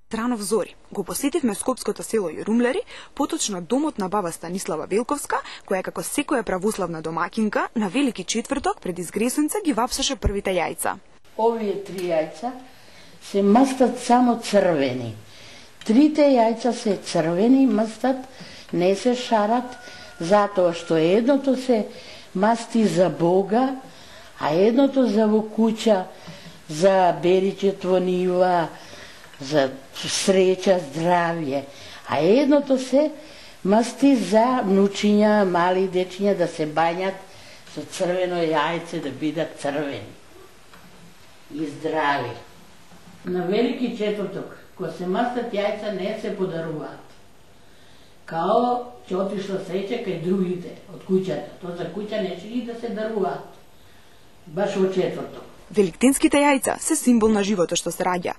Странов Зори. Го посетивме скопското село Јурумлери, поточно домот на баба Станислава Велковска, која како секоја православна домакинка на Велики четврток пред изгресунце ги вапсаше првите јајца. Овие 3 јајца се мастат само црвени. 3 јајца се црвени, мастат, не се шарат, затоа што едното се масти за Бога, а едното за во куќа, за беричет во нива, за среќа, здравје, а едното се масти за внучиња, мали дечиња да се бањат со црвено јајце, да бидат црвени и здрави. На Велики четврток, кога се мастат јајца, не се подаруваат. Као ќе отишла среќа кај другите од куќата. Тоа за куќа не ќе да се даруваат. Баш во четврток. Великденските јајца се символ на животот што се раѓа.